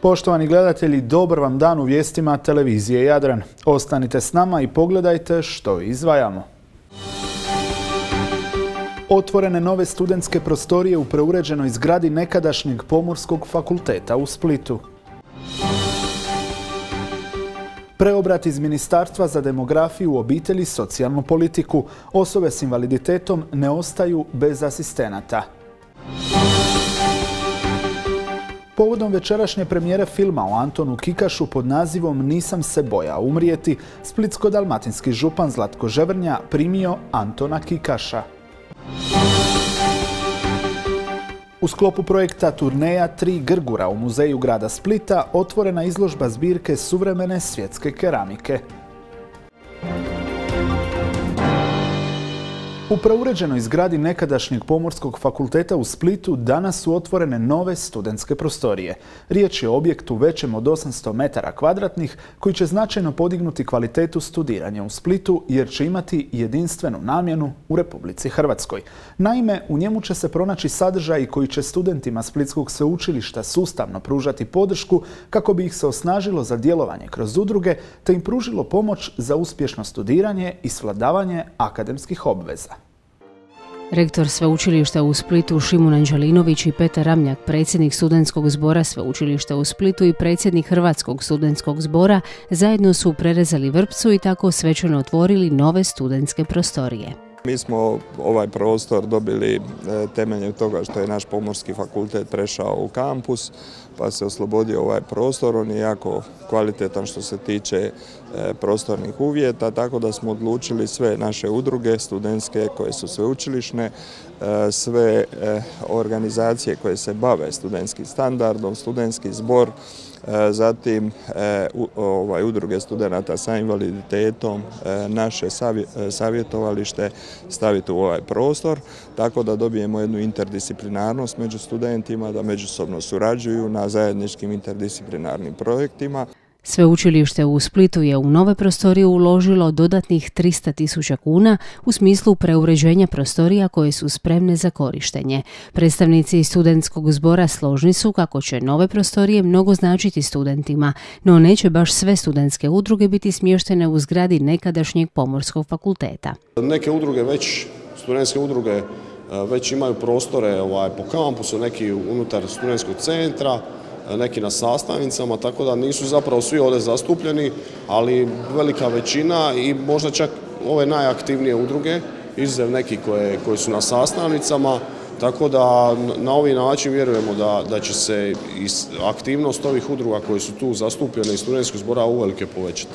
Poštovani gledatelji, dobar vam dan u vijestima televizije Jadran. Ostanite s nama i pogledajte što izdvajamo. Otvorene nove studentske prostorije u preuređenoj zgradi nekadašnjeg Pomorskog fakulteta u Splitu. Preobrat iz Ministarstva za demografiju, obitelj i socijalnu politiku. Osobe s invaliditetom ne ostaju bez asistenata. Povodom večerašnje premijere filma o Antonu Kikašu pod nazivom Nisam se bojao umrijeti, splitsko-dalmatinski župan Zlatko Ževrnja primio Antona Kikaša. U sklopu projekta Turneja 3 Grgura u muzeju grada Splita otvorena izložba zbirke suvremene svjetske keramike. U preuređenoj zgradi nekadašnjeg Pomorskog fakulteta u Splitu danas su otvorene nove studentske prostorije. Riječ je o objektu većem od 800 metara kvadratnih koji će značajno podignuti kvalitetu studiranja u Splitu jer će imati jedinstvenu namjenu u Republici Hrvatskoj. Naime, u njemu će se pronaći sadržaji koji će studentima Splitskog sveučilišta sustavno pružati podršku kako bi ih se osnažilo za djelovanje kroz udruge te im pružilo pomoć za uspješno studiranje i svladavanje akademskih obveza. Rektor Sveučilišta u Splitu Šimun Anđelinović i Petar Ramljak, predsjednik Studentskog zbora Sveučilišta u Splitu i predsjednik Hrvatskog studentskog zbora, zajedno su prerezali vrpcu i tako svečano otvorili nove studentske prostorije. Mi smo ovaj prostor dobili temeljem toga što je naš Pomorski fakultet prešao u kampus, pa se oslobodio ovaj prostor. On je jako kvalitetan što se tiče prostornih uvjeta, tako da smo odlučili sve naše udruge studentske koje su sveučilišne, sve organizacije koje se bave studentskim standardom, studentski zbor, zatim udruge studenata sa invaliditetom, naše savjetovalište staviti u ovaj prostor, tako da dobijemo jednu interdisciplinarnost među studentima, da međusobno surađuju na zajedničkim interdisciplinarnim projektima. Sveučilište u Splitu je u nove prostorije uložilo dodatnih 300.000 kuna u smislu preuređenja prostorija koje su spremne za korištenje. Predstavnici studentskog zbora složni su kako će nove prostorije mnogo značiti studentima, no neće baš sve studentske udruge biti smještene u zgradi nekadašnjeg Pomorskog fakulteta. Neke udruge studentske udruge već imaju prostore po kampusu, neki unutar studentskog centra, neki na sastavnicama, tako da nisu zapravo svi ovdje zastupljeni, ali velika većina i možda čak ove najaktivnije udruge, izuzev neki koji su na sastavnicama, tako da na ovaj način vjerujemo da će se aktivnost ovih udruga koji su tu zastupljene iz studentskog zbora uvelike povećati.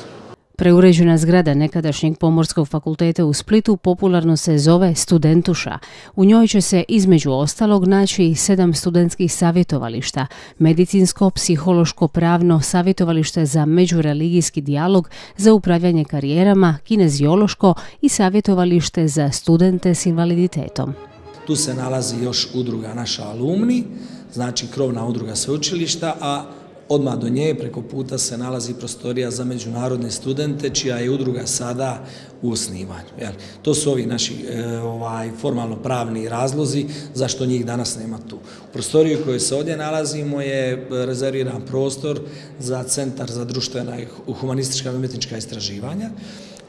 Preuređena zgrada nekadašnjeg Pomorskog fakulteta u Splitu popularno se zove Studentuša. U njoj će se između ostalog naći 7 studentskih savjetovališta, medicinsko, psihološko, pravno, savjetovalište za međureligijski dijalog, za upravljanje karijerama, kineziološko i savjetovalište za studente s invaliditetom. Tu se nalazi još udruga naša alumni, znači krovna udruga sveučilišta, a odmah do nje preko puta se nalazi prostorija za međunarodne studente čija je udruga sada u osnivanju. To su ovi naši formalno pravni razlozi zašto njih danas nema tu. U prostoriji u kojoj se ovdje nalazimo je rezerviran prostor za Centar za društvena i humanistička i umjetnička istraživanja.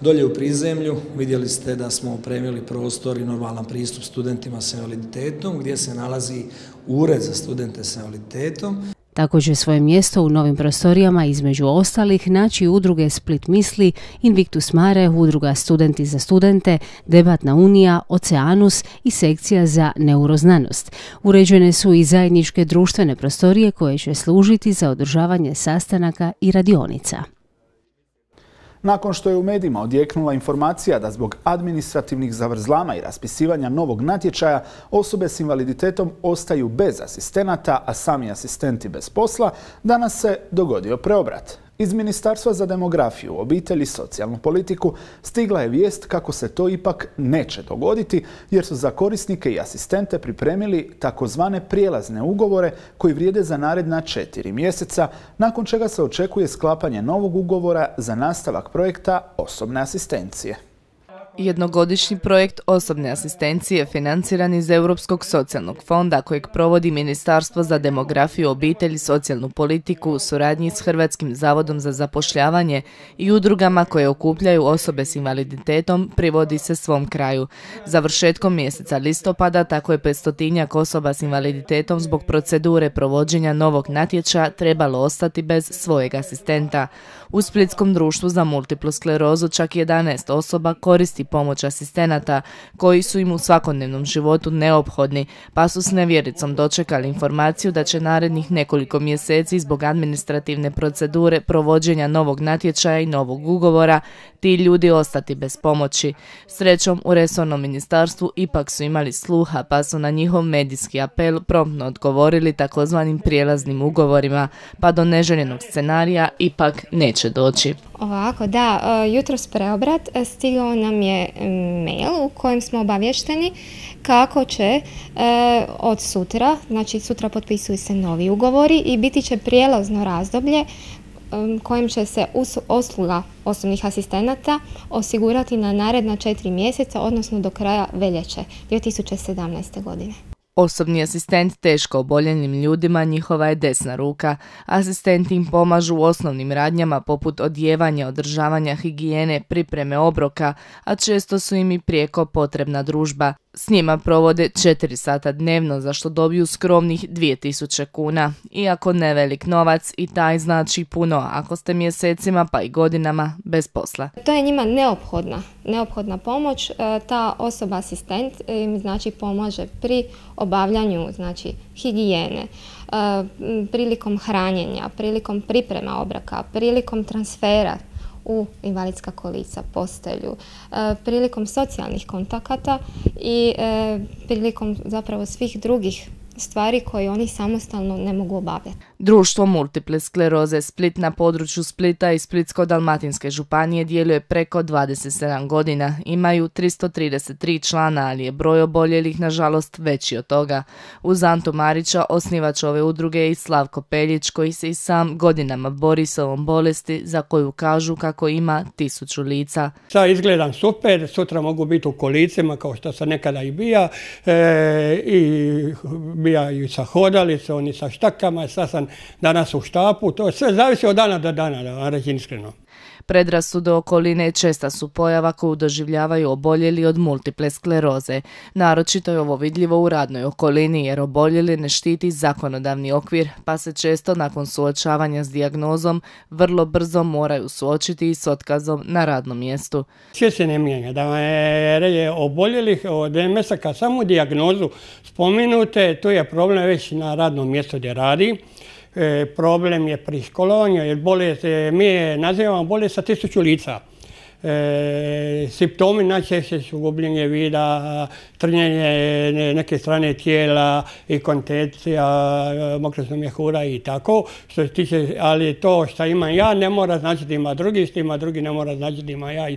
Dolje u prizemlju vidjeli ste da smo opremili prostor i normalan pristup studentima s invaliditetom gdje se nalazi ured za studente s invaliditetom. Tako će svoje mjesto u novim prostorijama između ostalih naći udruge Split misli, Invictus Mare, udruga Studenti za studente, Debatna unija, Oceanus i sekcija za neuroznanost. Uređene su i zajedničke društvene prostorije koje će služiti za održavanje sastanaka i radionica. Nakon što je u medijima odjeknula informacija da zbog administrativnih zavrzlama i raspisivanja novog natječaja osobe s invaliditetom ostaju bez asistenata, a sami asistenti bez posla, danas se dogodio preobrat. Iz Ministarstva za demografiju, obitelj i socijalnu politiku stigla je vijest kako se to ipak neće dogoditi jer su za korisnike i asistente pripremili takozvane prijelazne ugovore koji vrijede za naredna 4 mjeseca, nakon čega se očekuje sklapanje novog ugovora za nastavak projekta osobne asistencije. Jednogodišnji projekt osobne asistencije financiran iz Europskog socijalnog fonda kojeg provodi Ministarstvo za demografiju, obitelj i socijalnu politiku u suradnji s Hrvatskim zavodom za zapošljavanje i udrugama koje okupljaju osobe s invaliditetom privodi se svom kraju. Završetkom mjeseca listopada tako je 500-tinjak osoba s invaliditetom zbog procedure provođenja novog natječaja trebalo ostati bez svojeg asistenta. U Splitskom društvu za multiplu sklerozu čak 11 osoba koristi pomoć asistenata koji su im u svakodnevnom životu neophodni, pa su s nevjericom dočekali informaciju da će narednih nekoliko mjeseci zbog administrativne procedure provođenja novog natječaja i novog ugovora ti ljudi ostati bez pomoći. Srećom, u resornom ministarstvu ipak su imali sluha, pa su na njihov medijski apel promptno odgovorili takozvanim prijelaznim ugovorima, pa do neželjenog scenarija ipak neće doći. Ovako, da, jutros preobrat stigao nam je mail u kojem smo obavješteni kako će od sutra, znači sutra potpisuju se novi ugovori i biti će prijelazno razdoblje kojim će se usluga osobnih asistenata osigurati na naredna 4 mjeseca, odnosno do kraja veljače 2017. godine. Osobni asistent teško oboljelim ljudima njihova je desna ruka. Asistenti im pomažu u osnovnim radnjama poput odjevanja, održavanja higijene, pripreme obroka, a često su im i prijeko potrebna družba. S njima provode 4 sata dnevno, za što dobiju skromnih 2000 kuna. Iako nevelik novac, i taj znači puno ako ste mjesecima pa i godinama bez posla. To je njima neophodna pomoć. Ta osoba asistent im znači pomaže pri obavljanju znači higijene, prilikom hranjenja, prilikom priprema obroka, prilikom transfera u invalidska kolica, postelju, prilikom socijalnih kontakata i prilikom zapravo svih drugih stvari koje oni samostalno ne mogu obavljati. Društvo multiple skleroze Split na području Splita i Splitsko-dalmatinske županije djeluje preko 27 godina. Imaju 333 člana, ali je broj oboljelih nažalost veći od toga. Uz Antu Marića, osnivač ove udruge, je i Slavko Peljić, koji se i sam godinama bori s ovom bolesti za koju kažu kako ima 1000 lica. Sad izgledam super, sutra mogu biti u kolicima kao što sam nekada i bija i bija i sa hodalicom i sa štakama, sad sam danas u štapu, to sve zavisi od dana do dana, da vam reći iskreno. Predrasude okoline česta su pojava koju doživljavaju oboljeli od multiple skleroze. Naročito je ovo vidljivo u radnoj okolini jer oboljeli ne štiti zakonodavni okvir, pa se često nakon suočavanja s dijagnozom vrlo brzo moraju suočiti i s otkazom na radnom mjestu. Sve se ne mijenja, da vam je oboljelih od MS-a kad samu dijagnozu spominute, tu je problem već na radnom mjestu gdje radi. Problem je pri školovanju, jer mi je nazivamo bolest sa 1000 lica. Simptomi najčešće su gubljenje vida, trnjenje neke strane tijela, inkontinencija, mokrosna mjehura i tako. Što se tiče, ali to što imam ja ne mora značiti da ima drugi, što ima drugi ne mora značiti da ima ja i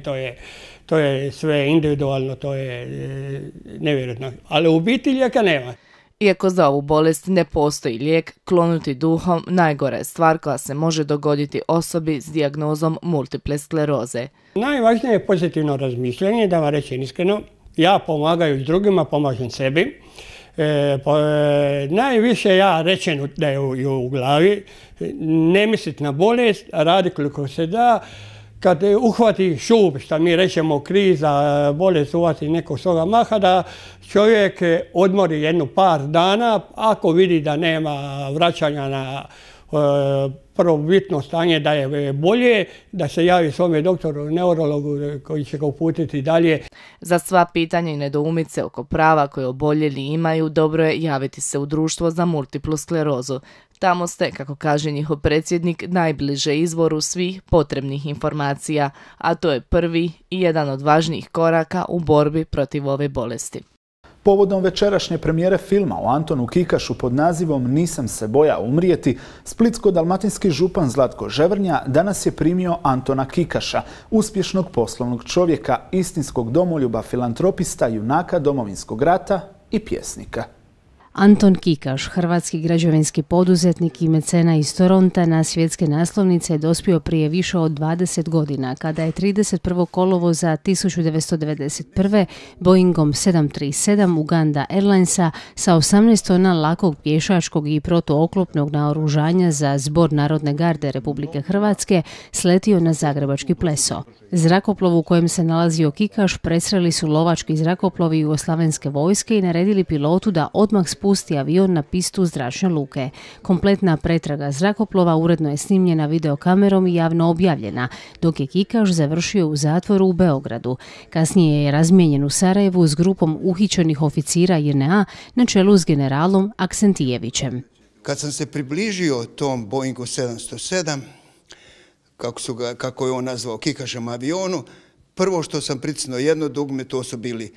to je sve individualno, to je nevjerojatno. Ali u biti lijeka nema. Iako za ovu bolest ne postoji lijek, klonuti duhom najgora je stvar koja se može dogoditi osobi s dijagnozom multiple skleroze. Najvažnije je pozitivno razmišljanje, da vam rečem iskreno. Ja pomagaju drugima, pomažem sebi. Najviše ja rečem da je u glavi, ne misliti na bolest, radi koliko se da. Kad uhvati šub, što mi rećemo kriza, bolest uhvati nekog svoga maha, da čovjek odmori jednu par dana, ako vidi da nema vraćanja na prvobitno stanje, da je bolje, da se javi svome doktoru, neurologu koji će ga uputiti dalje. Za sva pitanja i nedoumice oko prava koje oboljeli imaju, dobro je javiti se u društvo za multiplu sklerozu. Tamo ste, kako kaže njihov predsjednik, najbliže izvoru svih potrebnih informacija, a to je prvi i jedan od važnijih koraka u borbi protiv ove bolesti. Povodom večerašnje premijere filma o Antonu Kikašu pod nazivom Nisam se bojao umrijeti, splitsko-dalmatinski župan Zlatko Ževrnja danas je primio Antona Kikaša, uspješnog poslovnog čovjeka, istinskog domoljuba, filantropista, junaka Domovinskog rata i pjesnika. Anton Kikaš, hrvatski građevinski poduzetnik i mecena iz Toronta, na svjetske naslovnice je dospio prije više od 20 godina, kada je 31. kolovoza 1991. Boeingom 737 Uganda Airlinesa sa 18 tona lakog pješačkog i protooklopnog naoružanja za Zbor Narodne garde Republike Hrvatske sletio na zagrebački Pleso. Zrakoplov u kojem se nalazio Kikaš presreli su lovački zrakoplovi jugoslavenske vojske i naredili pilotu da odmah spusti avion na pistu zračne luke. Kompletna pretraga zrakoplova uredno je snimljena videokamerom i javno objavljena, dok je Kikaš završio u zatvoru u Beogradu. Kasnije je razmijenjen u Sarajevu s grupom uhićenih oficira JNA na čelu s generalom Aksentijevićem. Kad sam se približio tom Boeingu 707, kako je on nazvao Kikašem avionu, prvo što sam pritisnuo jedno dugme, to su bili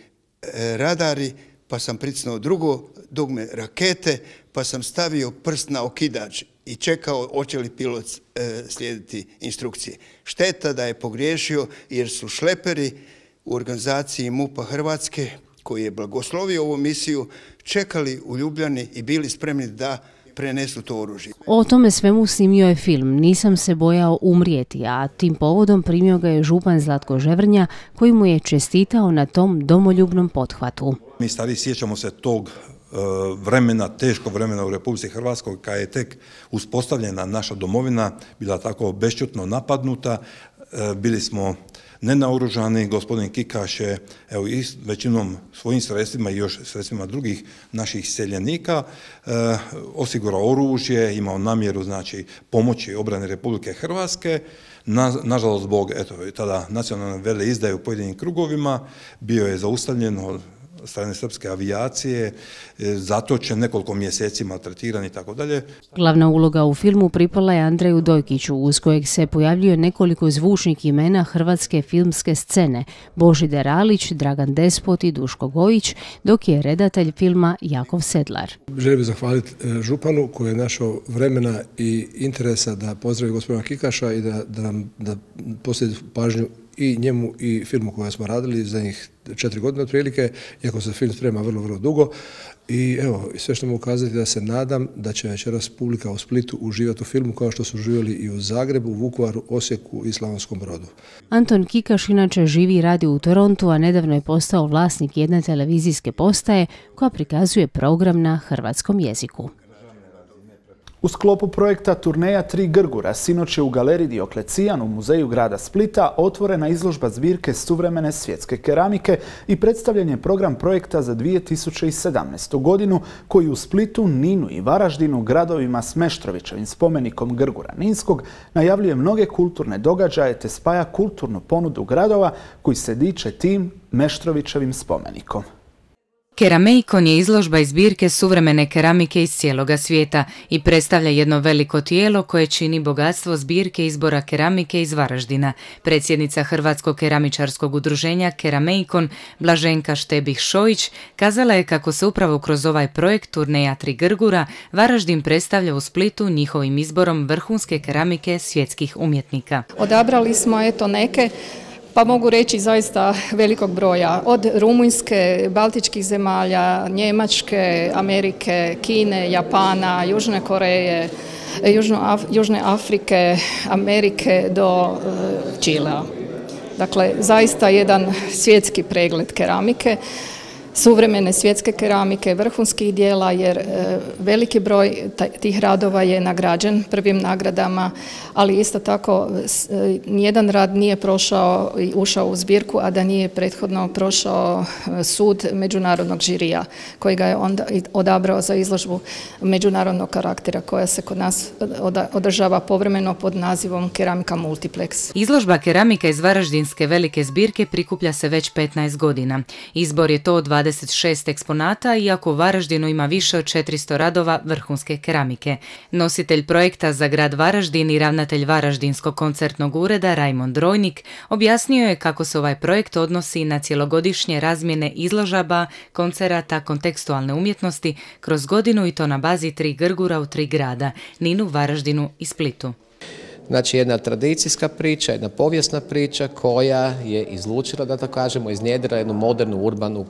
radari, pa sam pritisnuo drugo dugme rakete, pa sam stavio prst na okidač i čekao hoće li pilot slijediti instrukcije. Šteta da je pogriješio jer su šleperi u organizaciji MUP-a Hrvatske, koji je blagoslovio ovu misiju, čekali u Ljubljani i bili spremni da prenesu to oružje. O tome svemu snimio je film Nisam se bojao umrijeti, a tim povodom primio ga je župan Zlatko Ževrnja, koji mu je čestitao na tom domoljubnom pothvatu. Mi stari sjećamo se tog vremena, teškog vremena u Republici Hrvatskoj, kada je tek uspostavljena naša domovina, bila tako bešćutno napadnuta, bili smo nenaoružani. Gospodin Kikaš je i većinom svojim sredstvima i još sredstvima drugih naših seljenika osigurao oružje, imao namjeru pomoći obrani Republike Hrvatske. Nažalost, zbog tada nacionalne veleizdaje u pojedinim krugovima bio je zaustavljen od strane srpske avijacije, zatočen, nekoliko mjeseci maltretiran i tako dalje. Glavna uloga u filmu pripala je Andreju Dojkiću, uz kojeg se pojavljuje nekoliko zvučnih imena hrvatske filmske scene: Božidar Alić, Dragan Despot i Duško Gojić, dok je redatelj filma Jakov Sedlar. Želim bih zahvaliti županu koji je našao vremena i interesa da pozdravi gospodina Kikaša i da posjeti pažnju i njemu i filmu koji smo radili za njih 4 godine otprilike, iako se film sprema vrlo, vrlo dugo. I evo, sve što mogu kazati da se nadam da će večeras publika u Splitu uživati u filmu kao što su uživali i u Zagrebu, Vukovaru, Osijeku i Slavonskom Brodu. Anton Kikaš inače živi i radi u Torontu, a nedavno je postao vlasnik jedne televizijske postaje koja prikazuje program na hrvatskom jeziku. U sklopu projekta Turneja Tri Grgura sinoć je u galeriji Dioklecijan u muzeju grada Splita otvorena izložba zbirke suvremene svjetske keramike i predstavljen je program projekta za 2017. godinu koji u Splitu, Ninu i Varaždinu, gradovima s Meštrovićevim spomenikom Grgura Ninskog, najavljuje mnoge kulturne događaje te spaja kulturnu ponudu gradova koji se diče tim Meštrovićevim spomenikom. Kerameikon je izložba iz zbirke suvremene keramike iz cijeloga svijeta i predstavlja jedno veliko tijelo koje čini bogatstvo zbirke izbora keramike iz Varaždina. Predsjednica Hrvatskog keramičarskog udruženja Kerameikon, Blaženka Štebih-Šojić, kazala je kako se upravo kroz ovaj projekt Turneja Tri Grgura Varaždin predstavlja u Splitu njihovim izborom vrhunske keramike svjetskih umjetnika. Odabrali smo neke, pa mogu reći zaista velikog broja, od Rumunjske, Baltičkih zemalja, Njemačke, Amerike, Kine, Japana, Južne Koreje, Južne Afrike, Amerike do Čilea. Dakle, zaista jedan svjetski pregled keramike, suvremene svjetske keramike, vrhunskih dijela, jer veliki broj tih radova je nagrađen prvim nagradama, ali isto tako nijedan rad nije prošao i ušao u zbirku, a da nije prethodno prošao sud međunarodnog žirija, koji ga je onda odabrao za izložbu međunarodnog karaktera koja se kod nas održava povremeno pod nazivom Keramika Multiplex. Izložba keramika iz Varaždinske velike zbirke prikuplja se već 15 godina. Izbor je to od 26 eksponata, iako u Varaždinu ima više od 400 radova vrhunske keramike. Nositelj projekta za grad Varaždin i ravnatelj Varaždinskog koncertnog ureda Rajmond Rojnik objasnio je kako se ovaj projekt odnosi na cjelogodišnje razmjene izložaba, koncerata, kontekstualne umjetnosti kroz godinu i to na bazi Tri Grgura u 3 grada, Ninu, Varaždinu i Splitu. Znači jedna tradicijska priča, jedna povijesna priča koja je izlučila, da tako kažemo, iznjedrila jednu modernu urbanu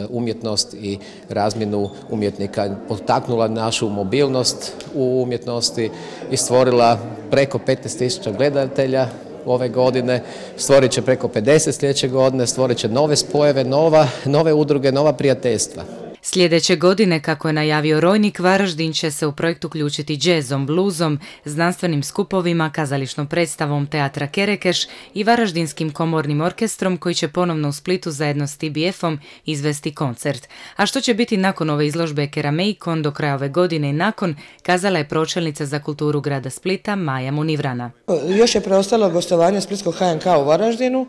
umjetnost i razmjenu umjetnika, potaknula našu mobilnost u umjetnosti i stvorila preko 15.000 gledatelja ove godine, stvorit će preko 50 sljedeće godine, stvorit će nove spojeve, nove udruge, nova prijateljstva. Sljedeće godine, kako je najavio Rojnik, Varaždin će se u projekt uključiti džezom, bluzom, znanstvenim skupovima, kazališnom predstavom Teatra Kerekeš i Varaždinskim komornim orkestrom koji će ponovno u Splitu zajedno s TBF-om izvesti koncert. A što će biti nakon ove izložbe Kerameikon do kraja ove godine i nakon, kazala je pročelnica za kulturu grada Splita Maja Munivrana. Još je preostalo gostovanje Splitskog HNK u Varaždinu.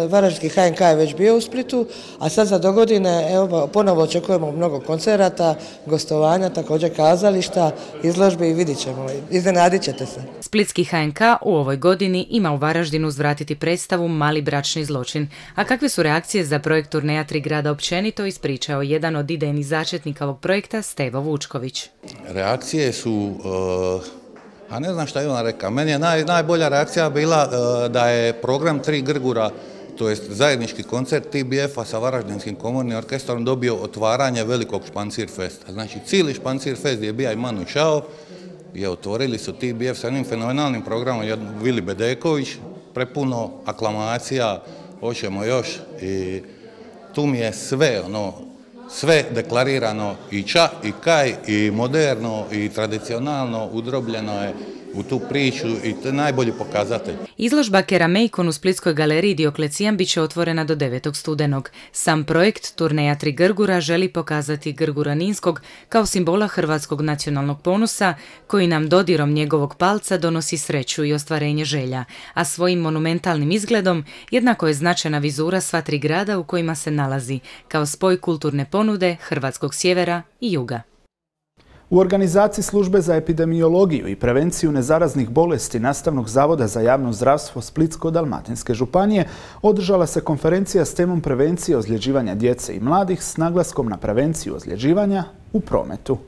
Varaždinski HNK je već bio u Splitu, a sad za dogodine ponovo očekujemo mnogo koncerata, gostovanja, također kazališta, izložbe i vidit ćemo. Iznenadit ćete se. Splitski HNK u ovoj godini ima u Varaždinu uzvratiti predstavu Mali bračni zločin. A kakve su reakcije za projekt turneja Tri grada općenito, ispričao jedan od idejnih začetnika ovog projekta, Stevo Vučković. Reakcije su... A ne znam šta je ona rekao. Meni je najbolja reakcija bila da je program Tri Grgura, to jest zajednički koncert TBF-a sa Varaždinskim komornim orkestrom, dobio otvaranje velikog Špancir festa. Znači, cijeli Špancir fest gdje je bija i Manu Čao, je otvorili su TBF sa jednim fenomenalnim programom, Vili Bedeković, prepuno aklamacija, hoćemo još, i tu mi je sve deklarirano, i ča, i kaj, i moderno, i tradicionalno, udrobljeno je u tu priču i to je najbolji pokazatelj. Izložba Kerameikon u Splitskoj galeriji Dioklecijan bit će otvorena do 9. studenog. Sam projekt turneja Tri Grgura želi pokazati Grgura Ninskog kao simbola hrvatskog nacionalnog ponosa koji nam dodirom njegovog palca donosi sreću i ostvarenje želja, a svojim monumentalnim izgledom jednako je značajna vizura sva tri grada u kojima se nalazi, kao spoj kulturne ponude hrvatskog sjevera i juga. U organizaciji Službe za epidemiologiju i prevenciju nezaraznih bolesti Nastavnog zavoda za javno zdravstvo Splitsko-dalmatinske županije održala se konferencija s temom prevencije ozljeđivanja djece i mladih s naglaskom na prevenciju ozljeđivanja u prometu.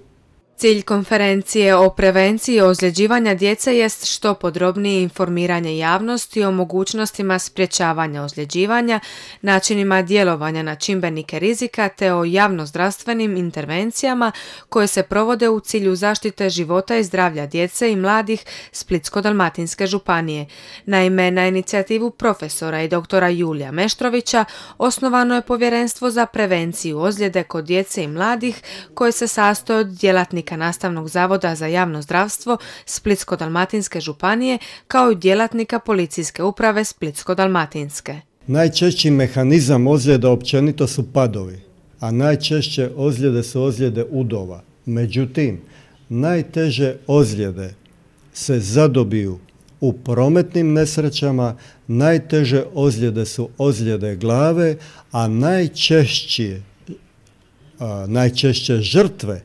Cilj konferencije o prevenciji ozljeđivanja djece jest što podrobnije informiranje javnosti o mogućnostima sprječavanja ozljeđivanja, načinima djelovanja na čimbenike rizika te o javnozdravstvenim intervencijama koje se provode u cilju zaštite života i zdravlja djece i mladih Splitsko-dalmatinske županije. Naime, na inicijativu profesora i doktora Julija Meštrovića osnovano je Povjerenstvo za prevenciju ozljede kod djece i mladih koje se sastoji od djelatnika Nastavnog zavoda za javno zdravstvo Splitsko-dalmatinske županije kao i djelatnika policijske uprave Splitsko-dalmatinske. Najčešći mehanizam ozljeda općenito su padovi, a najčešće ozljede su ozljede udova. Međutim, najteže ozljede se zadobiju u prometnim nesrećama, najteže ozljede su ozljede glave, a najčešće žrtve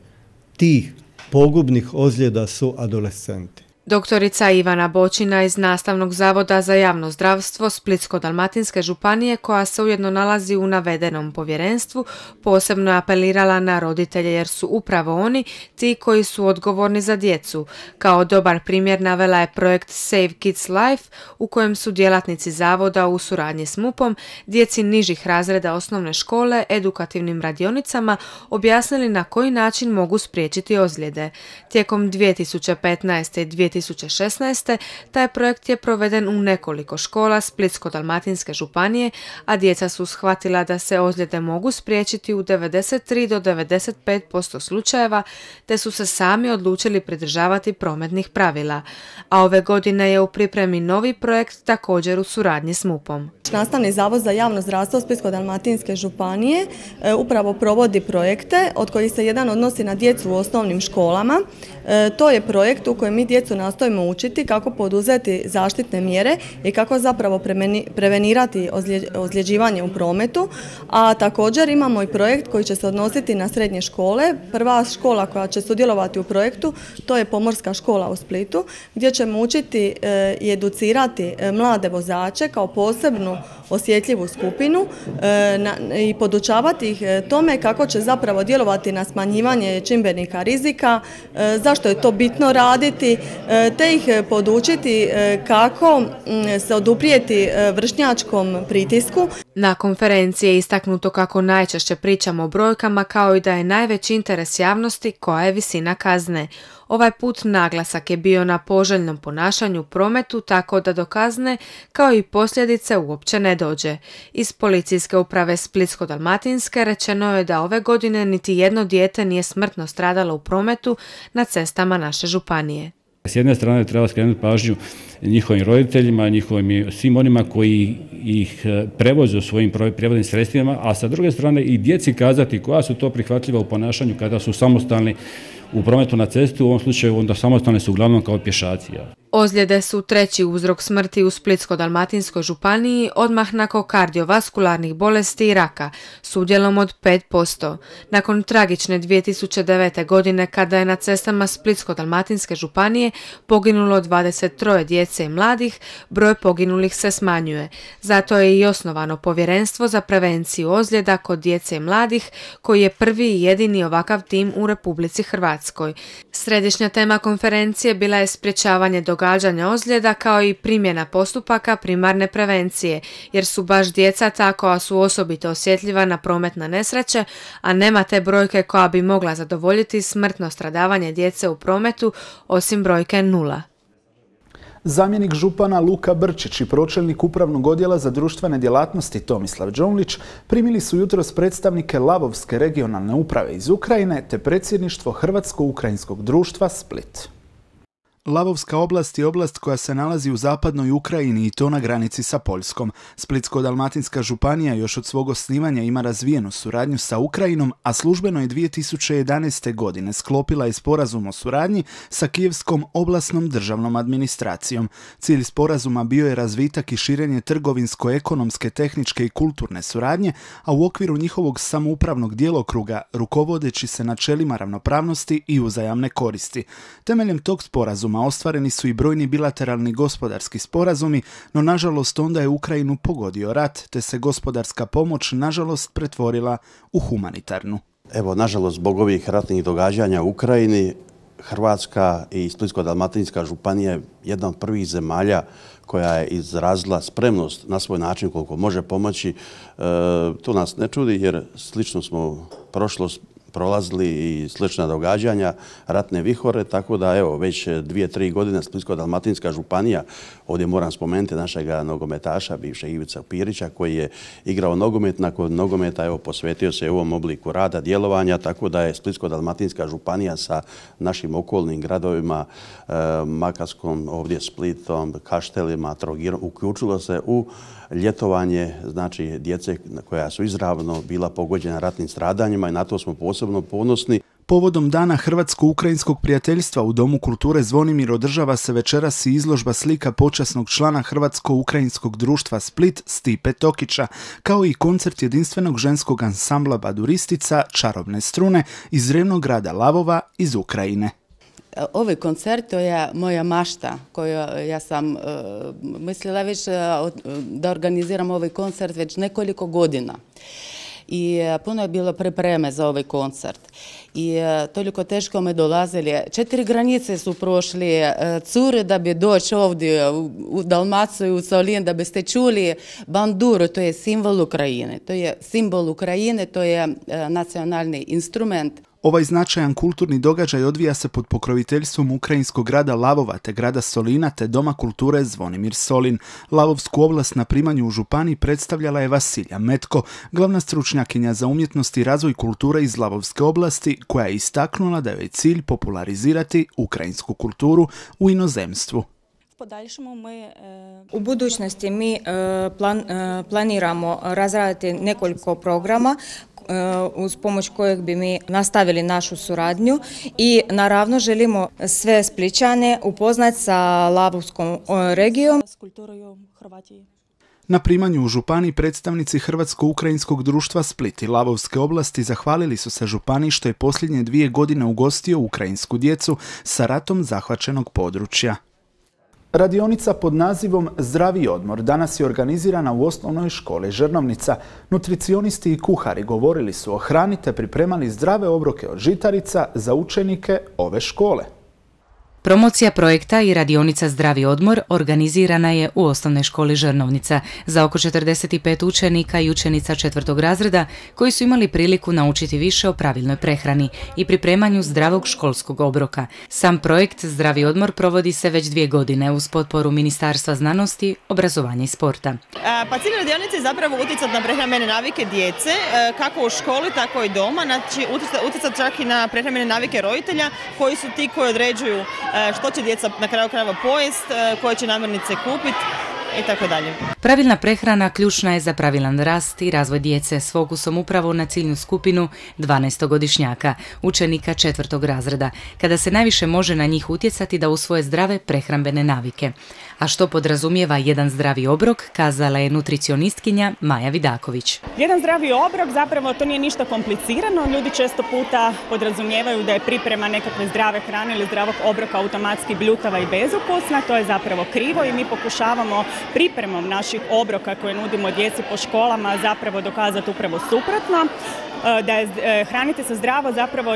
tih pogubnih ozljeda su adolescenti. Doktorica Ivana Bočina iz Nastavnog zavoda za javno zdravstvo Splitsko-dalmatinske županije, koja se ujedno nalazi u navedenom povjerenstvu, posebno je apelirala na roditelje jer su upravo oni ti koji su odgovorni za djecu. Kao dobar primjer navela je projekt Save Kids Life u kojem su djelatnici zavoda u suradnji s MUP-om djeci nižih razreda osnovne škole edukativnim radionicama objasnili na koji način mogu spriječiti ozljede. Tijekom 2015. i 2016. taj projekt je proveden u nekoliko škola Splitsko-dalmatinske županije, a djeca su shvatila da se ozljede mogu spriječiti u 93 do 95% slučajeva, te su se sami odlučili pridržavati prometnih pravila. A ove godine je u pripremi novi projekt također u suradnji s MUP-om. Nastavni zavod za javno zdravstvo Splitsko-dalmatinske županije upravo provodi projekte od kojih se jedan odnosi na djecu u osnovnim školama. To je projekt u kojem mi djecu nastojimo učiti kako poduzeti zaštitne mjere i kako zapravo prevenirati ozljeđivanje u prometu, a također imamo i projekt koji će se odnositi na srednje škole. Prva škola koja će sudjelovati u projektu to je Pomorska škola u Splitu, gdje ćemo učiti i educirati mlade vozače kao posebnu osjetljivu skupinu i podučavati ih tome kako će zapravo djelovati na smanjivanje čimbenika rizika, zašto je to bitno raditi, te ih podučiti kako se oduprijeti vršnjačkom pritisku. Na konferenciji je istaknuto kako najčešće pričamo o brojkama, kao i da je najveći interes javnosti koja je visina kazne. Ovaj put naglasak je bio na poželjnom ponašanju u prometu, tako da do kazne kao i posljedice uopće ne dođe. Iz policijske uprave Splitsko-dalmatinske rečeno je da ove godine niti jedno dijete nije smrtno stradalo u prometu na cestama naše županije. S jedne strane treba skrenuti pažnju njihovim roditeljima, njihovim svim onima koji ih prevoze u svojim prijevoznim sredstvima, a sa druge strane i djeci kazati koja su to prihvatljiva u ponašanju kada su samostalni u prometu na cestu, u ovom slučaju onda samostalni su uglavnom kao pješaci. Ozljede su treći uzrok smrti u Splitsko-dalmatinskoj županiji, odmah nakon kardiovaskularnih bolesti i raka, s udjelom od 5%. Nakon tragične 2009. godine, kada je na cestama Splitsko-dalmatinske županije poginulo 23 djece i mladih, broj poginulih se smanjuje. Zato je i osnovano povjerenstvo za prevenciju ozljeda kod djece i mladih, koji je prvi i jedini ovakav tim u Republici Hrvatskoj. Središnja tema konferencije bila je sprječavanje događanja ozljeda kao i primjena postupaka primarne prevencije, jer su baš djeca ta koja su osobito osjetljiva na prometne nesreće, a nema te brojke koja bi mogla zadovoljiti smrtno stradavanje djece u prometu, osim brojke 0. Zamjenik župana Luka Brčić i pročelnik Upravnog odjela za društvene djelatnosti Tomislav Đonlić primili su jutros predstavnike Lavovske regionalne uprave iz Ukrajine te predsjedništvo Hrvatsko-ukrajinskog društva Split. Lavovska oblast je oblast koja se nalazi u zapadnoj Ukrajini i to na granici sa Poljskom. Splitsko-dalmatinska županija još od svog osnivanja ima razvijenu suradnju sa Ukrajinom, a službeno je 2011. godine sklopila je sporazum o suradnji sa Kijevskom oblastnom državnom administracijom. Cilj sporazuma bio je razvitak i širenje trgovinsko-ekonomske, tehničke i kulturne suradnje, a u okviru njihovog samoupravnog djelokruga rukovodeći se načelima ravnopravnosti i uzajamne koristi. Temeljem tog sporazuma ostvareni su i brojni bilateralni gospodarski sporazumi, no nažalost onda je Ukrajinu pogodio rat, te se gospodarska pomoć nažalost pretvorila u humanitarnu. Evo, nažalost, zbog ovih ratnih događanja u Ukrajini, Hrvatska i Splitsko-dalmatinska županija je jedna od prvih zemalja koja je izrazila spremnost na svoj način koliko može pomoći. To nas ne čudi jer slično smo prolazili i slična događanja, ratne vihore, tako da evo već 2-3 godine Splitsko-dalmatinska županija, ovdje moram spomenuti našega nogometaša, bivšeg Ivica Pirića, koji je igrao nogomet, nakon nogometa evo posvetio se ovom obliku rada, djelovanja, tako da je Splitsko-dalmatinska županija sa našim okolnim gradovima, Makarskom, ovdje Splitom, Kaštelima, Trogirom, uključilo se u ljetovanje, znači djece koja su izravno bila pogođena ratnim stradanjima i na to smo posebno ponosni. Povodom Dana Hrvatsko-ukrajinskog prijateljstva u Domu kulture Zvonimir održava se večeras i izložba slika počasnog člana Hrvatsko-ukrajinskog društva Split Stipe Tokića, kao i koncert jedinstvenog ženskog ansambla baduristica Čarobne strune iz revnog grada Lavova iz Ukrajine. Ovaj koncert to je moja mašta koju ja sam mislila već da organiziram ovaj koncert već nekoliko godina. I puno je bilo pripreme za ovaj koncert. I toliko teško me dolazili. 4 granice su prošli cure da bi doći ovdje u Dalmaciju, u Solin, da biste čuli banduru, to je simbol Ukrajine. To je simbol Ukrajine, to je nacionalni instrument. Ovaj značajan kulturni događaj odvija se pod pokroviteljstvom ukrajinskog grada Lavova te grada Solina te Doma kulture Zvonimir Solin. Lavovsku oblast na primanju u županiji predstavljala je Vasilja Metko, glavna stručnjakinja za umjetnost i razvoj kulture iz Lavovske oblasti, koja je istaknula da je cilj popularizirati ukrajinsku kulturu u inozemstvu. U budućnosti mi planiramo razraditi nekoliko programa uz pomoć kojeg bi mi nastavili našu suradnju i naravno želimo sve Splićane upoznati sa Lavovskom regijom. Na primanju u županiji predstavnici Hrvatsko-ukrajinskog društva Split i Lavovske oblasti zahvalili su se županiji što je posljednje 2 godine ugostio ukrajinsku djecu sa ratom zahvaćenog područja. Radionica pod nazivom Zdravi odmor danas je organizirana u osnovnoj školi Žrnovnica. Nutricionisti i kuhari govorili su o hrani te pripremali zdrave obroke od žitarica za učenike ove škole. Promocija projekta i radionica Zdravi odmor organizirana je u osnovnoj školi Žrnovnica za oko 45 učenika i učenica 4. razreda koji su imali priliku naučiti više o pravilnoj prehrani i pripremanju zdravog školskog obroka. Sam projekt Zdravi odmor provodi se već 2 godine uz potporu Ministarstva znanosti, obrazovanja i sporta. Pa cilj radionice je zapravo utjecati na prehrambene navike djece, kako u školi, tako i doma, znači utjecati čak i na prehrambene navike roditelja koji su ti koji određuju što će djeca na kraju krajeva pojest, koje će namirnice kupiti i tako dalje. Pravilna prehrana ključna je za pravilan rast i razvoj djece s fokusom upravo na ciljnu skupinu 12-godišnjaka, učenika 4. razreda, kada se najviše može na njih utjecati da usvoje zdrave prehrambene navike. A što podrazumijeva jedan zdravi obrok, kazala je nutricionistkinja Maja Vidaković. Jedan zdravi obrok zapravo to nije ništa komplicirano. Ljudi često puta podrazumijevaju da je priprema nekakve zdrave hrane ili zdravog obroka automatski bljutava i bezukusna. To je zapravo krivo i mi pokušavamo pripremom naših obroka koje nudimo djeci po školama zapravo dokazati upravo suprotno. Da je hraniti se zdravo zapravo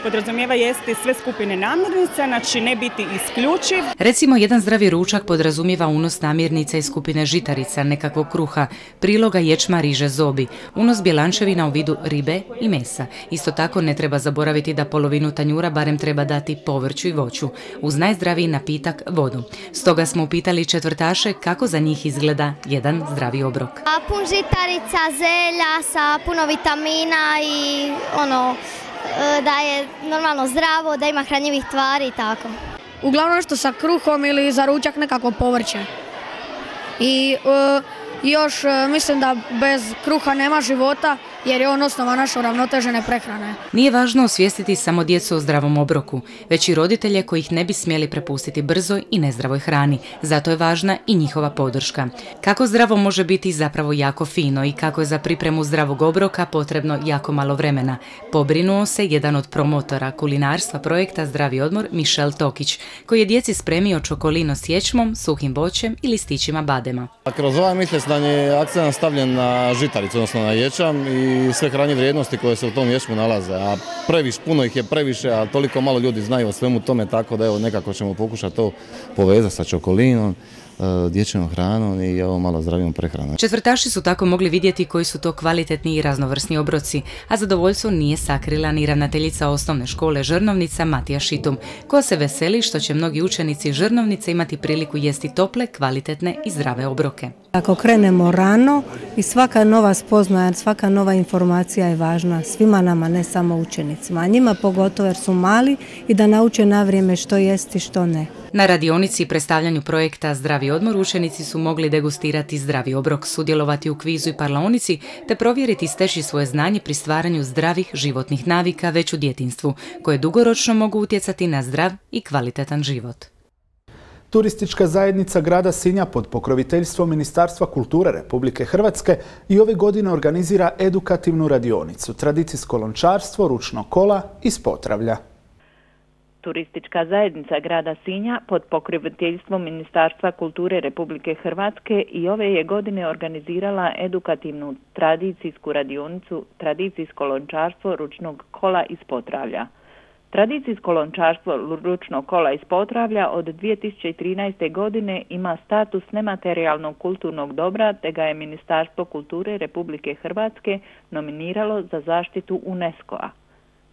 podrazumijeva jesti sve skupine namirnica, znači ne biti isključiv. Recimo, jedan zdravi ručak podrazumijeva unos namirnica iz skupine žitarica, nekakvog kruha, priloga ječma, riže, zobi, unos bjelančevina u vidu ribe i mesa. Isto tako ne treba zaboraviti da polovinu tanjura barem treba dati povrću i voću, uz najzdraviji napitak vodu. Stoga smo upitali četvrtaše kako za njih izgleda jedan zdravi obrok. Pun žitarica, zelja sa puno vitamina i da je normalno zdravo, da ima hranjivih tvari i tako. Uglavnom nešto sa kruhom ili za ručak nekako povrće. I još mislim da bez kruha nema života jer je on osnova naše uravnotežene prehrane. Nije važno osvijestiti samo djecu o zdravom obroku, već i roditelje koji ih ne bi smjeli prepustiti brzoj i nezdravoj hrani. Zato je važna i njihova podrška. Kako zdravo može biti zapravo jako fino i kako je za pripremu zdravog obroka potrebno jako malo vremena. Pobrinuo se jedan od promotora kulinarstva projekta Zdravi odmor, Mišel Tokić, koji je djeci spremio čokolino s ječmom, suhim voćem i listićima badema. Kroz ovaj mjesec je akcent stavljen na žitaricu, odnosno na ječam i sve hranjive vrijednosti koje se u tom ječmu nalaze. A puno ih je previše, a toliko malo ljudi znaju o svemu tome, tako da evo nekako ćemo pokušati to povezati sa čokolinom, dječjom hranom i ovo malo zdravijom prehranom. Četvrtaši su tako mogli vidjeti koji su to kvalitetni i raznovrsni obroci, a zadovoljstvo nije sakrila ni ravnateljica osnovne škole Žrnovnica Matija Šitum, koja se veseli što će mnogi učenici Žrnovnice imati priliku jesti tople, kvalitetne i zdrave obroke. Ako krenemo rano i svaka nova spoznaja, svaka nova informacija je važna svima nama, ne samo učenicima, a njima pogotovo jer su mali i da nauče na vrijeme što jesti, što ne. Na radionici i predstavljanju projekta Zdravi odmor učenici su mogli degustirati zdravi obrok, sudjelovati u kvizu i parlaonici te provjeriti i steći svoje znanje pri stvaranju zdravih životnih navika već u djetinjstvu, koje dugoročno mogu utjecati na zdrav i kvalitetan život. Turistička zajednica grada Sinja pod pokroviteljstvom Ministarstva kulture Republike Hrvatske i ove godine organizira edukativnu radionicu, tradicijsko lončarstvo, ručno kola iz Potravlja. Turistička zajednica grada Sinja pod pokroviteljstvom Ministarstva kulture Republike Hrvatske i ove je godine organizirala edukativnu tradicijsku radionicu tradicijsko lončarstvo ručnog kola iz Potravlja. Tradicijsko lončarstvo ručnog kola iz Potravlja od 2013. godine ima status nematerijalnog kulturnog dobra, te ga je Ministarstvo kulture Republike Hrvatske nominiralo za zaštitu UNESCO-a.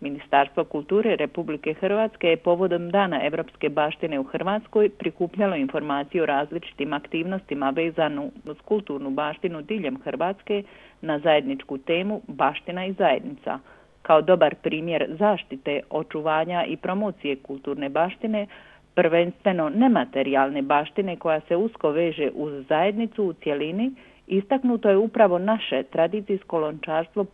Ministarstvo kulture Republike Hrvatske je povodom Dana Europske baštine u Hrvatskoj prikupljalo informacije o različitim aktivnostima vezanu uz kulturnu baštinu diljem Hrvatske na zajedničku temu Baština i zajednica. Kao dobar primjer zaštite, očuvanja i promocije kulturne baštine, prvenstveno nematerijalne baštine koja se usko veže uz zajednicu u cjelini, istaknuto je upravo naše tradicijsko lončarstvo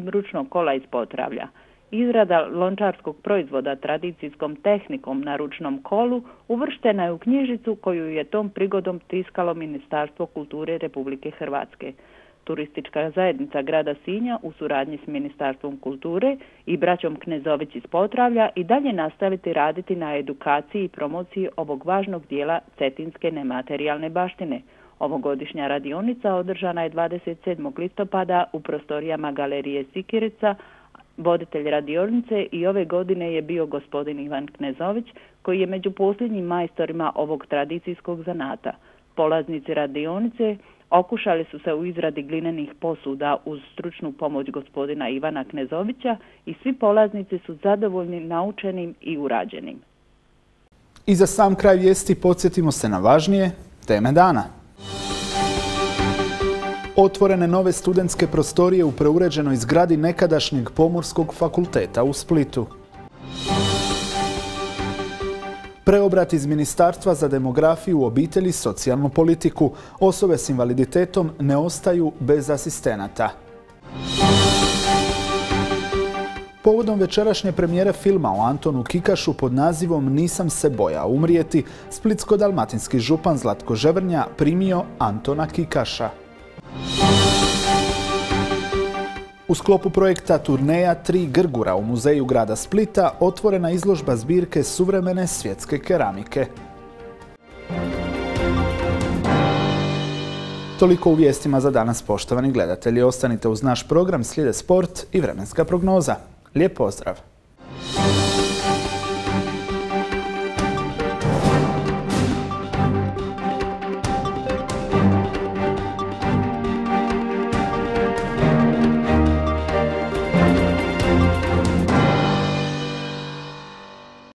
ručnog kola iz Potravlja. Izrada lončarskog proizvoda tradicijskom tehnikom na ručnom kolu uvrštena je u knjižicu koju je tom prigodom tiskalo Ministarstvo kulture Republike Hrvatske. Turistička zajednica grada Sinja u suradnji s Ministarstvom kulture i braćom Knezović iz Potravlja i dalje nastaviti raditi na edukaciji i promociji ovog važnog dijela cetinske nematerijalne baštine. Ovogodišnja radionica održana je 27. listopada u prostorijama Galerije Sikirica, Voditelj radionice i ove godine je bio gospodin Ivan Knezović, koji je među posljednjim majstorima ovog tradicijskog zanata. Polaznici radionice okušali su se u izradi glinenih posuda uz stručnu pomoć gospodina Ivana Knezovića i svi polaznici su zadovoljni naučenim i urađenim. I za sam kraj vijesti podsjetimo se na važnije teme dana. Otvorene nove studentske prostorije u preuređenoj zgradi nekadašnjeg Pomorskog fakulteta u Splitu. Preobrat iz Ministarstva za demografiju, obitelj i socijalnu politiku. Osobe s invaliditetom ne ostaju bez asistenata. Povodom večerašnje premijere filma o Antonu Kikašu pod nazivom Nisam se bojao umrijeti, splitsko-dalmatinski župan Zlatko Ževrnja primio Antona Kikaša. U sklopu projekta Turneja 3 Grgura u muzeju grada Splita otvorena izložba zbirke suvremene svjetske keramike. Toliko u vijestima za danas, poštovani gledatelji. Ostanite uz naš program, slijede sport i vremenska prognoza. Lijep pozdrav!